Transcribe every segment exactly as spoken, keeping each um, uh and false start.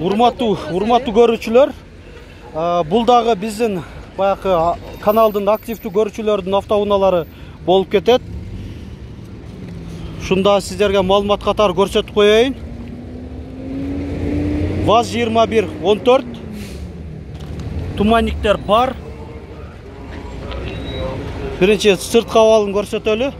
Урматтуу, урматтуу көрүүчүлөр, бул дагы биздин баягы каналдын активдүү көрүүчүлөрдүн автоунаалары болуп кетет. Шунда сиздерге маалымат катары көрсөтүп коеюн. ВАЗ жыйырма бир он төрт туманниктер бар. Биринчи сырткы абалын көрсөтөлү.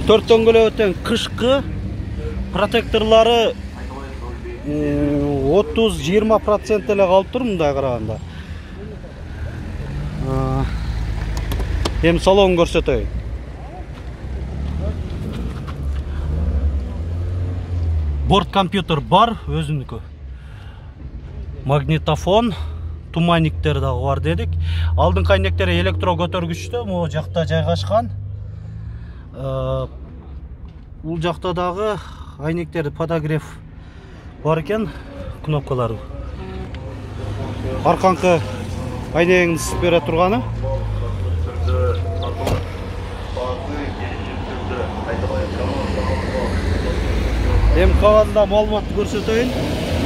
Төрт дөңгөлөктөн кышкы протекторлары отуз жыйырма процент эле калып тур мындай караганда. Эми салонун көрсөтөйүн. Борт компьютер бар, өзүнүкү. Магнитофон, туманниктер дагы бар дедик. Алдыңкы айнектери электро көтөргүчтө могу жакта жайгашкан. Бул жакта дагы айнектер подогрев бар экен, кнопкалар. Арканкы айнегин ысып бере турганы. Эми кабарында маалыматты көрсөтөйүн.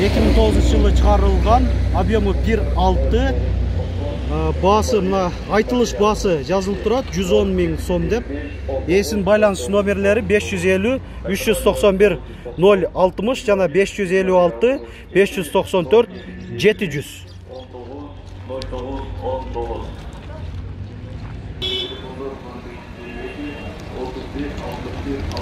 эки миң тогузунчу жылы чыгарылган, объему бир алты. Баасы мына айтылыш баасы жазылып турат, жүз он миң сом деп. Эсин байланыш номерлери беш жүз элүү үч жүз токсон бир ноль алтымыш жана беш жүз элүү алты беш жүз токсон төрт жети жүз.